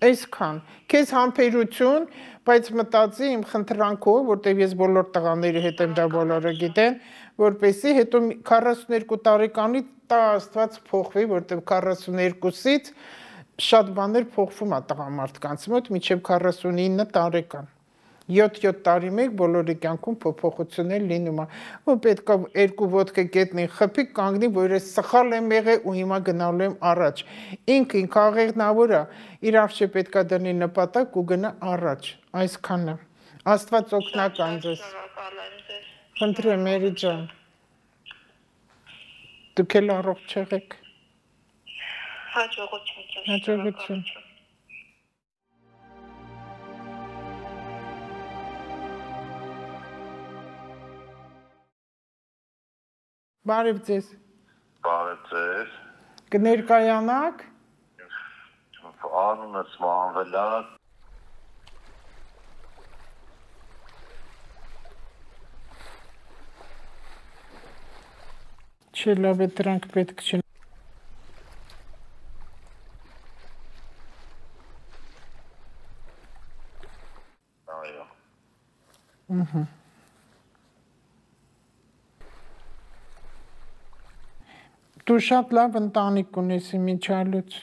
S1: Այսքան, քեզ համբերություն, բայց մտածի իմ խնդրանքով, որովհետև ես բոլոր տղաների հետ եմ դա բոլորը գիտեն, որպեսզի հետո քառասուններկու տարեկանի տա Աստված փոխվի, որովհետև քառասուններկուսից շատ բաներ փոխվում է տղամարդկանց մոտ մինչև քառասունինը տարեկան։ յոթ-յոթ տարի մեկ բոլորի կյանքում փոփոխություններ լինում է։ Ու պետք է երկու ոտքը գետնին խփի, կանգնի, որ ես սխալ եմ եղել ու հիմա գնալու եմ առաջ։ Ինքը ինքը աղեղնավոր է, իր արժե պետք է դնի նպատակ ու գնա առաջ։ Այսքանը։ Աստված օգնական ձեզ։ Խնդրեմ, Մերի ջան։ Դուք էլ առողջ եղեք։
S3: Հաջողություն։
S1: Հաջողություն։ Բարև ձեզ։
S4: Բարև ձեզ։
S1: Կներկայանաք։
S4: Անունս Մանվել է։
S1: Չէ, լավ է, դրանք պետք չեն։
S4: Այո։
S1: Ահա։ Դու շատ լավ ընտանիք ունես իմիջալուց։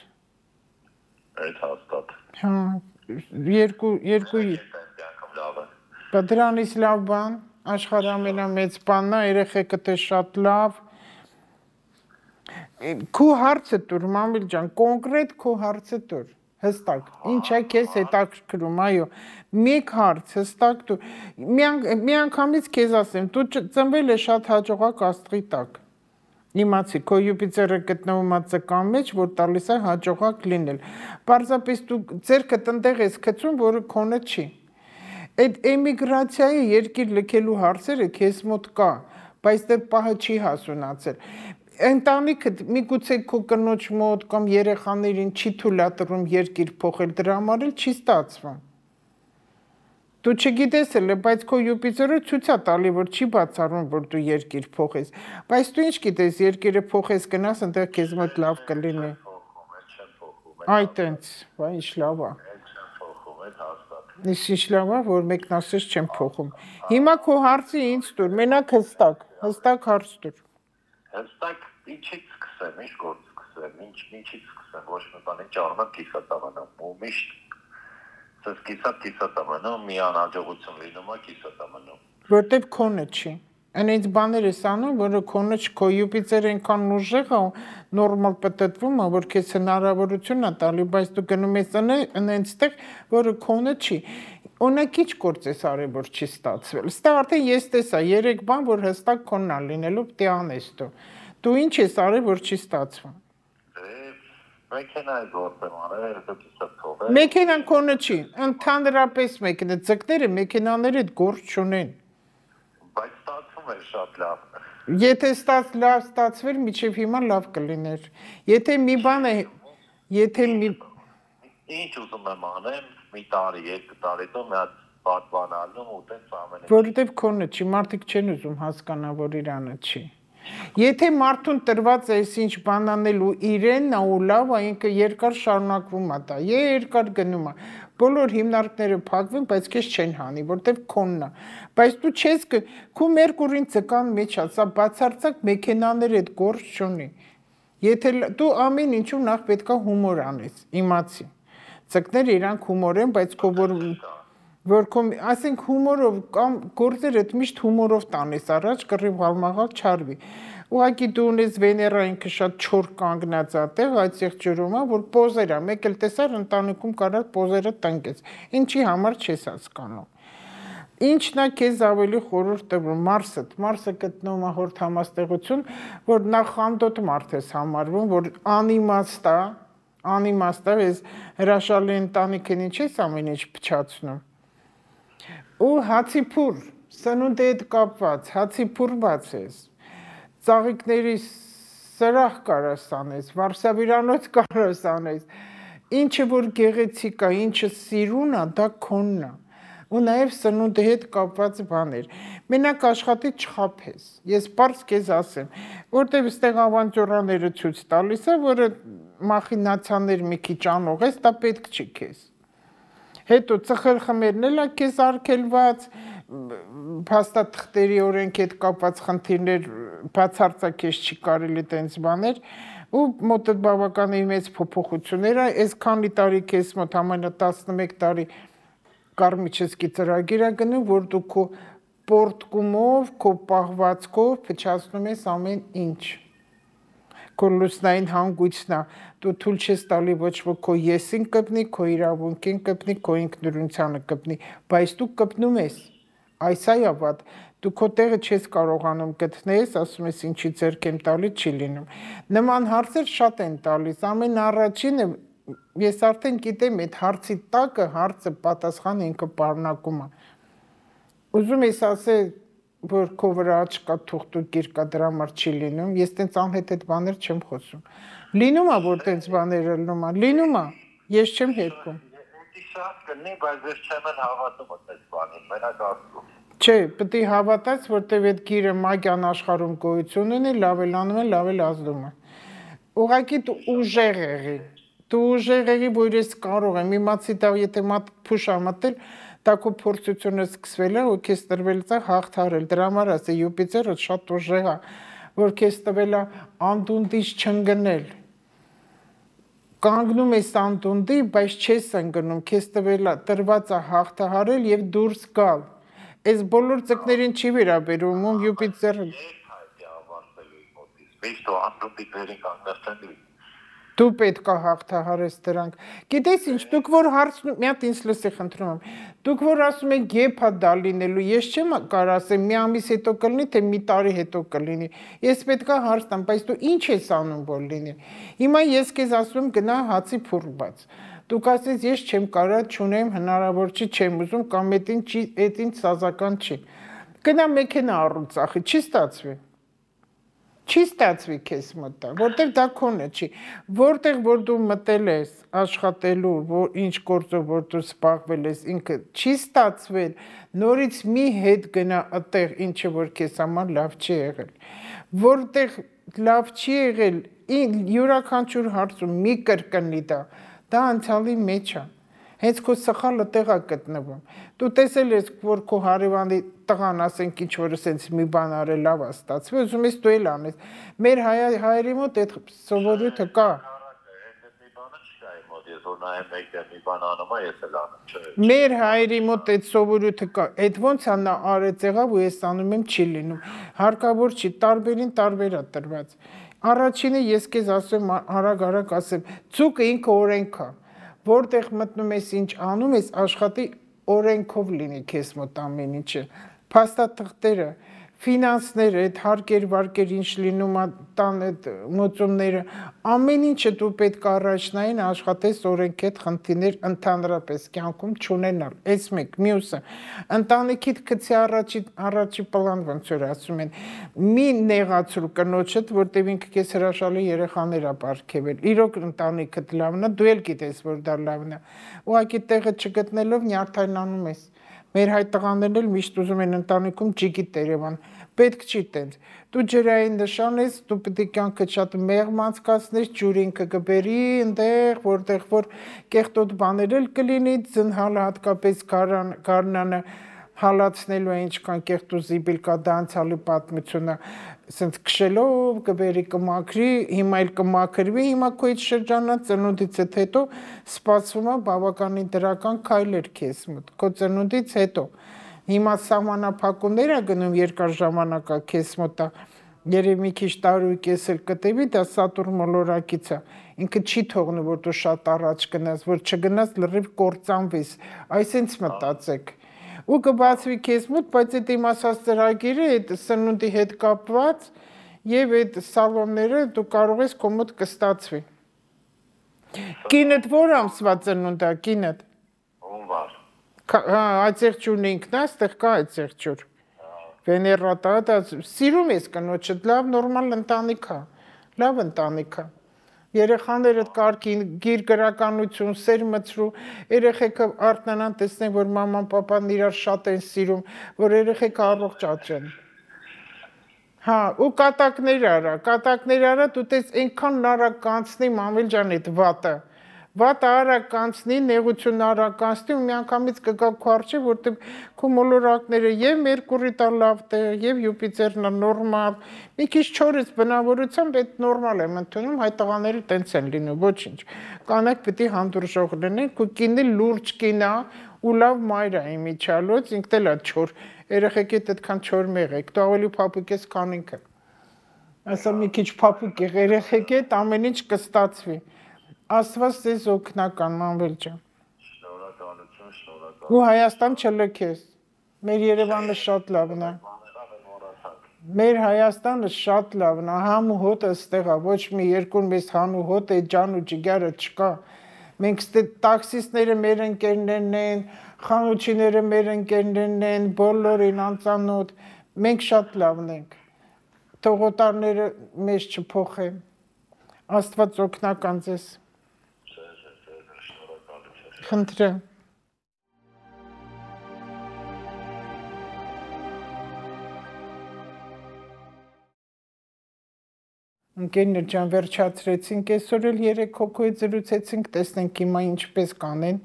S4: Այդ հաստատ։
S1: Հա, երկու երկու Բա դրանից լավ բան, աշխարհի ամենամեծ բանն է, երեխեքդ է շատ լավ։ Քո հարցը տուր, Մանվել ջան, կոնկրետ քո հարցը տուր, հստակ։ Ինչ է քեզ հետաքրքրում, այո։ Մեկ հարց, հստակ տուր։ Մի անգամից քեզ ասեմ, դու ծնվել ես շատ հաջողակ աստղի տակ։ Իմացի, քո Յուպիտերը գտնվում է ծկան մեջ, որ տալիս է հաջողակ լինել։ Պարզապես դու ձերքդ ընդեղ ես գցում, որը քոնը չի։ Այդ էմիգրացիայի երկիր լքելու հարցերը քեզ մոտ կա, բայց դեռ պահը չի հասունացել։ Ընտանիքդ միգուցե քո կնոջ մոտ կամ երեխաներին չի թույլատրում երկիր փոխել, դրա համար էլ չի ստացվում։ Դու չգիտես էլ, բայց քո Յուպիտերը ցույց է տալի, որ չի բացառում, որ դու երկիր փոխես, բայց դու ինչ գիտես, երկիրը փոխես գնաս, այնտեղ քեզ մոտ լավ կլինի։ Այ տենց, բա ինչ լավ է։ Ինչ լավ է, որ մեկն ասես չեմ փոխում։ Հիմա քո հարցը ինձ տուր, մենակ հստակ, հստակ հարց տուր։
S4: Հստակ ինչից սկսեմ, ինչ գործ սկսեմ, ինչ ինչից սկսեմ, ոչ մի բան, ինչ առնեմ կիսատավանում, ու միշտ Սս կիսատ կիսատ ամնում, մի անհաջողություն լինում է կիսատ ամնում։
S1: Որտեվ քոնը չի։ Այնից բաներ ես անում, որը քոնը չի, քո Յուպիտերը այնքան ուժեղ է, նորմալ պատտվում է, որ քեզ հնարավորություն է տալի, բայց դու գնում ես այնտեղ, որը քոնը չի։ Օրինակ ինչ գործ ես արել, որ չի ստացվել։ Ստա արդեն ես տեսա երեք բան, որ հստակ քոնն է լինելու, պետք է անես դու։ Դու ինչ ես արել, որ չի ստացվում։
S4: Մեքենայի գործ եմ արել, հետո կիսատ թողել։
S1: Մեքենան քոնը չի, ընդհանրապես մեքենա, ձկները մեքենաների հետ գործ չունեն։
S4: ստացվում է շատ լավ։
S1: Եթե ստաց լավ ստացվեր, միջև հիմա լավ կլիներ։ Եթե մի բան է, եթե մի
S4: ինչ ուզում եմ անեմ, մի տարի, երկու տարի հետո մի հատ պատվանալու ու տենց ամենը։
S1: Որովհետև քոնը չի, մարդիկ չեն ուզում հասկանալ, որ իրանը չի։ Եթե մարդուն տրված է ինչ բան անելու իրենն է ու լավ է, ինքը երկար շարունակվում է դա, երկար գնում է։ Բոլոր հիմնարկները փակվեն, բայց քեզ չեն հանի, որտեվ քոնն է։ Բայց դու չես քո Մերկուրին ցկան մեջ է, սա բացարձակ մեքենաների հետ գործ չունի։ Եթե դու ամեն ինչու նախ պետքա հումոր անես, իմացի։ Ցկները իրանք հումոր են, բայց քո որ որ ասենք հումորով կամ գործերը միշտ հումորով տանես առաջ կռիվ հալմաղալ չարվի։ Ուղղակի դու ունես Վեներային շատ չոր կանգնած է տեղ այդտեղ ջրում է, որ պոզեր է, մեկ էլ տեսար ընտանիքում կարար պոզերը տնկես։ Ինչի համար չես հասկանում։ Ինչն է քեզ ավելի խորհուրդ տվում Մարսը, Մարսը գտնում է հորդ համաստեղություն, որ նախանդոտ մարդ ես համարվում, որ անիմաստ է, անիմաստ է, ես հրաշալի ընտանիքին ինչ ես ամեն ինչ փչացնում։ Ու հացի փուր, սնունդի հետ կապված, հացի փուր բացես, ծաղիկների սրահ կարաս անես, վարսավիրանոց կարաս անես, ինչը որ գեղեցիկ է, ինչը սիրուն է, դա քոնն է, ու նաև սնունդի հետ կապված բաներ, մենակ աշխատի չխափես, ես պարզ քեզ ասեմ, որտև ստեղ ավանտյուրաները ցույց տալիս է, որը մախինացիաներ մի քիչ անող ես, դա պետք չի քեզ։ Հետո ծխել խմերն էլ է քեզ արգելված, փաստաթղթերի օրենքի հետ կապված խնդիրներ բացարձակ քեզ չի կարելի տենց բաներ, ու մոտդ բավականին մեծ փոփոխություններ է, այս քանի տարի քեզ մոտ համարյա տասնմեկ տարի կարմիչեսկի ծրագիր է գնում, որ դու քո պորտկումով, քո պահվածքով փչացնում ես ամեն ինչ։ Քո լուսնային հանգույցն է, դու թույլ չես տալի ոչ ոք քո եսին կպնի, քո իրավունքին կպնի, քո ինքնուրույնությանը կպնի, բայց դու կպնում ես, այս այ ավատ, դու քո տեղը չես կարողանում գտնես, ասում ես ինչի ձեռք եմ տալի, չի լինում։ Նման հարցեր շատ են տալիս, ամեն առաջինը ես արդեն գիտեմ այդ հարցի տակը հարցը պատասխանը ինքը պարունակում է։ Ուզում ես ասել որ քո վրա աչքա թուղթ ու գիրկա դրա համար չի լինում, ես տենց անհետ այդ բաներ չեմ խոսում։ Լինում է որ տենց բաները լինում է, լինում է, ես չեմ հետքում։
S4: Դա շատ կլինի, բայց ես չեմ էլ հավատում այդ բանին, մենակ ասում։
S1: Չէ, պետք է հավատաս, որտեվ այդ գիրը մագյան աշխարհում գոյություն ունի, լավ էլ անում է, լավ էլ ազդում է։ Ուղղակի դու ուժեղ եղի, դու ուժեղ եղի, որ ես կարող եմ, իմացի դա եթե մատ փուշ ամատել դա քո փորձությունը սկսվել է ու քեզ տրվել է հաղթարել, դրա համար ասե Յուպիտերը շատ ուժեղ է, որ քեզ տվել է անդունդից չընկնել, կանգնում ես անդունդի, բայց չես ընկնում, քեզ տվել է տրված է հաղթահարել եւ դուրս գալ, այս բոլոր ձկներին չի վերաբերում, ում Յուպիտերը
S4: միշտ անդունդի վերին կանգնած են
S1: Դու պետք է հաղթահարես դրանք։ Գիտես ինչ, դուք որ հարցնում, մի հատ ինձ լսի խնդրում եմ, դուք որ ասում եք երբ է դա լինելու, ես չեմ կարող ասեմ մի ամիս հետո կլինի, թե մի տարի հետո կլինի։ Ես պետք է հարց տամ, բայց դու ինչ ես անում որ լինի։ Հիմա ես քեզ ասում գնա հացի փուր բաց։ Դուք ասես ես չեմ կարող, չունեմ, հնարավոր չի, չեմ ուզում կամ այդին չի, այդին սազական չի։ Գնա մեքենա առու ծախի, չի ստացվի։ Չի ստացվի քեզ մտա, որտեղ դա քոնը չի, որտեղ որ դու մտել ես աշխատելու, որ ինչ գործով որ դու սպառվել ես, ինքը չի ստացվել, նորից մի հետ գնա այդտեղ, ինչը որ քեզ համար լավ չի եղել, որտեղ լավ չի եղել, յուրաքանչյուր հարցում մի կրկնի դա, դա անցյալի մեջ է, հենց քո սխալը տեղ է գտնվում, դու տեսել ես, որ քո հարևանի տղան ասենք ինչ որ ասենց մի բան արել լավ է ստացվի, ուզում ես դու էլ անես, մեր հայերի մոտ այդ սովորույթը կա։ Մեր հայերի մոտ այդ սովորույթը կա, այդ ոնց է նա արեց եղավ ու ես անում եմ չի լինում, հարկավոր չի, տարբերին տարբեր է տրված։ Առաջինը ես քեզ ասում արագ-արագ ասեմ, ցուկը ինքը օրենք է, որտեղ մտնում ես ինչ անում ես, աշխատի օրենքով լինի քեզ մոտ ամեն ինչը, փաստաթղթերը, ֆինանսները, այդ հարկեր, վարկեր ինչ լինում է, տան այդ մոծումները, ամեն ինչը դու պետք է առաջնային աշխատես օրենքի հետ խնդիրներ ընդհանրապես կյանքում չունենալ։ Այս մեկ, մյուսը, ընտանիքիդ գցի առաջի առաջի պլան ոնց որ ասում են, մի նեղացրու կնոջդ, որտեղ ինքը քեզ հրաշալի երեխաներ ա պարգևել։ Իրոք ընտանիքդ լավն է, դու էլ գիտես, որ դա լավն է։ Ուղղակի տեղը չգտնելով նյարդայնանում ես։ Մեր հայ տղաներն էլ միշտ ուզում են ընտանիքում ջիգի տերևան, պետք չի տենց, դու ջրային նշան ես, դու պետք է կյանքը շատ մեղմ անցկացնես, ջուրին կգբերի, ընդեղ, որտեղ որ կեղտոտ բաներ էլ կլինի, ձնհալը հատկապես գարնանը հալացնելու է ինչքան կեղտ ու զիբիլ կա դա անցյալի պատմությունը, ասենց քշելով կբերի կմաքրի, հիմա էլ կմաքրվի, հիմա քո այդ շրջանը ծնունդից հետո սպասվում է բավականին դրական քայլեր քեզ մոտ, քո ծնունդից հետո, հիմա սահմանափակումներ է գնում երկար ժամանակա քեզ մոտ է, երևի մի քիչ տարի ու կես էլ կտևի, դա Սատուրն մոլորակից է, ինքը չի թողնում, որ դու շատ առաջ գնաս, որ չգնաս լրիվ կործանվես, այսինչ մտածեք ու կբացվի քեզ մոտ, բայց այդ իմ ասած ծրագիրը այդ սնունդի հետ կապված եւ այդ սալոնները դու կարող ես քո մոտ կստացվի։ Կինդ որ ամսվա ծնունդ է, կինդ։
S4: Հունվար։
S1: Հա, այծեղջուրն ինքն է, այստեղ կա այծեղջուր։ Վեներատա, դա սիրում ես կնոջդ, լավ նորմալ ընտանիք է, լավ ընտանիք է։ Երեխաներդ կարգին, գիր գրականություն, սեր մցրու, երեխեքը արթնանան տեսնեն, որ մաման պապան իրար շատ են սիրում, որ երեխեքը առողջ աճեն։ Հա, ու կատակներ արա, կատակներ արա, դու տես այնքան նարակ կանցնի մամիլ ջան այդ վատը։ Վատը արագ կանցնի, նեղություն արագ կանցնի ու միանգամից կգա քո առջև, որտեղ քո մոլորակները եւ Մերկուրի տա լավ տեղ, եւ Յուպիտերն է նորմալ, մի քիչ չորից բնավորությամբ այդ նորմալ եմ ընդունում, հայ տղաները տենց են լինում, ոչինչ։ Կանայք պիտի հանդուրժող լինեն, քո կինը լուրջ կին է ու լավ մայր է իմիջալոց, ինքն էլ է չոր, երեխեքիդ այդքան չոր մեղեք, դու ավելի փափուկ ես, քան ինքը։ Ասա մի քիչ փափուկ եղ երեխեքիդ, ամեն ինչ կստացվի։ Աստված ձեզ օգնական, Մանվել ջան։
S4: Շնորհակալություն, շնորհակալություն։
S1: Ու Հայաստան չլքես։ Մեր Երևանը շատ լավն է։ Մեր Հայաստանը շատ լավն է, համ ու հոտը ստեղ է, ոչ մի երկուն մեզ հան ու հոտ է, ջան ու ջիգարը չկա։ Մենք ստե տաքսիստները մեր ընկերներն են, խանութիները մեր ընկերներն են, բոլորին անծանոթ, մենք շատ լավն ենք։ Թողոտարները մեզ չփոխեն։ Աստված օգնական ձեզ։ Խնդրեմ։ Ընկերներ ջան, վերջացրեցինք, այսօր էլ երեք հոգու հետ զրուցեցինք, տեսնենք հիմա ինչպես կանեն,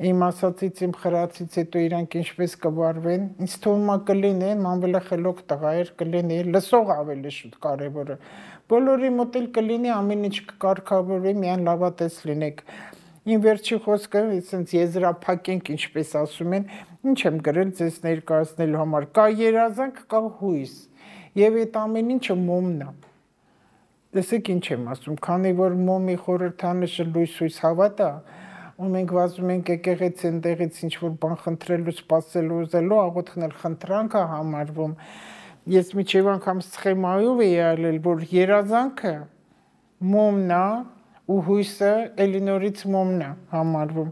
S1: իմ ասացից, իմ խրացից հետո իրանք ինչպես կվարվեն, ինձ թվում է կլինեն, Մանվելը խելոք տղա էր, կլինի, լսող ավելի շուտ կարևորը, բոլորի մոտ էլ կլինի, ամեն ինչ կկարգավորվի, միայն լավատես լինեք։ Իմ վերջի խոսքը, այսինքն եզրափակենք, ինչպես ասում են, ինչ եմ գրել ձեզ ներկայացնելու համար, կա երազանք, կա հույս, եւ այդ ամեն ինչը մոմն է։ Տեսեք ինչ եմ ասում, քանի որ մոմի խորհրդանիշը լույս-հույս հավատ է, ու մենք վազում ենք եկեղեցի ընդեղից ինչ-որ բան խնդրելու, սպասելու, ուզելու, աղոթքն էլ խնդրանք է համարվում։ Ես միջև անգամ սխեմայով էի այլել, որ երազանքը մոմն է, ու հույսը էլի նորից մոմն է համարվում։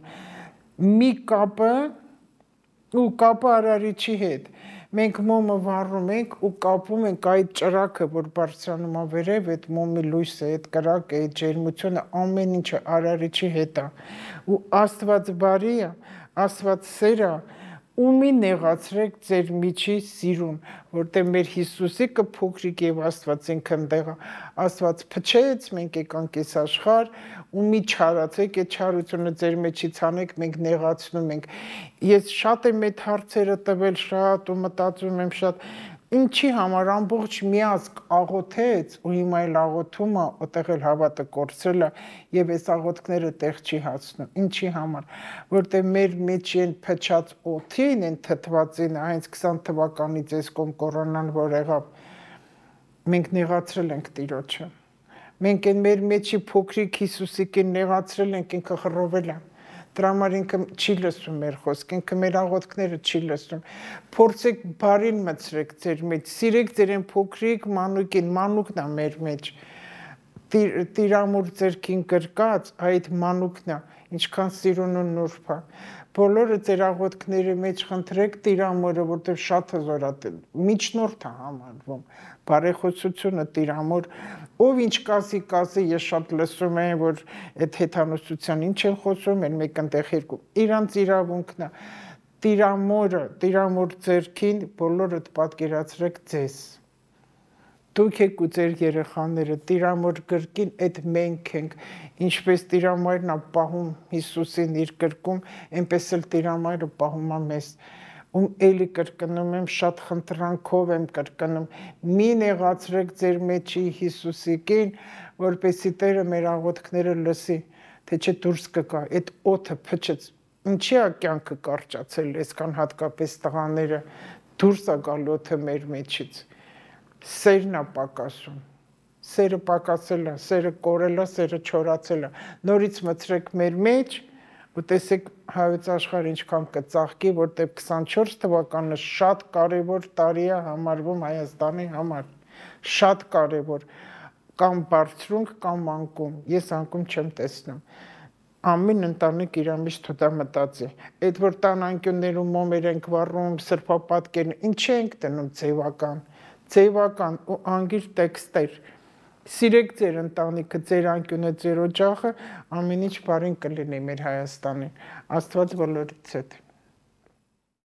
S1: Մի կապը ու կապը արարիչի հետ։ Մենք մոմը վառում ենք ու կապում ենք այդ ճրակը, որ բարձրանում է վերև, այդ մոմի լույսը, այդ կրակը, այդ ջերմությունը, ամեն ինչը արարիչի հետ է։ Ու Աստված բարի է, Աստված սեր է, ումի նեղացրեք ձեր միջի սիրուն, որտեղ մեր Հիսուսի կփոքրիկ եւ Աստված ինքն դեղա, Աստված փչեց, մենք եկանք այս աշխարհ, ումի չարացեք, այդ չարությունը ձեր մեջից անեք, մենք նեղացնում ենք։ Ես շատ եմ այդ հարցերը տվել շատ ու մտածում եմ շատ, ինչի համար ամբողջ միազգ աղոթեց ու հիմա էլ աղոթում է, այդտեղ էլ հավատը կորցրել է եւ այս աղոթքները տեղ չի հասնում։ Ինչի համար, որտեղ մեր մեջ են փչած օդին, են թթվածին, հենց քսան թվականից այս կոմ կորոնան որ եղավ, մենք նեղացրել ենք Տիրոջը։ Մենք են մեր մեջի փոքրիկ Հիսուսիկին նեղացրել ենք, ինքը խռովել է։ Դրա համար ինքը չի լսում մեր խոսք, ինքը մեր աղոթքները չի լսում։ Փորձեք բարին մտցրեք ձեր մեջ, սիրեք ձեր այն փոքրիկ մանուկին, մանուկն է մեր մեջ։ Տիրամուր ձերքին գրկած այդ մանուկն է, ինչքան սիրուն ու նուրբ է։ Բոլորը ձեր աղոթքների մեջ խնդրեք Տիրամորը, որտեղ շատ հզոր է, միջնորդ է համարվում։ Բարեխոսությունը Տիրամոր, ով ինչ կասի, կասի, ես շատ լսում եմ, որ այդ հեթանոսության ինչ են խոսում, են մեկ ընտեղ երկու, իրանց իրավունքն է, Տիրամորը, Տիրամոր ձերքին, բոլորդ պատկերացրեք ձեզ։ Դուք եք ու ձեր երեխաները, Տիրամոր գրկին, այդ մենք ենք, ինչպես Տիրամայրն է պահում Հիսուսին իր գրկում, այնպես էլ Տիրամայրը պահում է մեզ։ Ում էլի կրկնում եմ, շատ խնդրանքով եմ կրկնում, մի նեղացրեք ձեր մեջի Հիսուսիկին, որպեսզի Տերը մեր աղոթքները լսի, թե չէ դուրս կգա, այդ օդը փչեց, ինչի է կյանքը կարճացել, այսքան հատկապես տղաները, դուրս է գալ օդը մեր մեջից, սերն է պակասում, սերը պակասել է, սերը կորել է, սերը չորացել է, նորից մտցրեք մեր մեջ, ու տեսեք հայոց աշխարհը ինչքան կծաղկի, որտեղ քսանչորս թվականը շատ կարևոր տարի է համարվում Հայաստանի համար, շատ կարևոր, կամ բարձրունք, կամ անկում, ես անկում չեմ տեսնում, ամեն ընտանիք իր միշտ դա մտածի, այդ որ տան անկյուններում մոմեր ենք վառում, սրբապատկերն, ինչ ենք դնում ձևական, ձևական ու անգիր տեքստեր, Սիրեք ձեր ընտանիքը, ձեր անկյունը, ձեր օջախը, ամեն ինչ բարին կլինի մեր Հայաստանին, Աստված բոլորիցս հետ։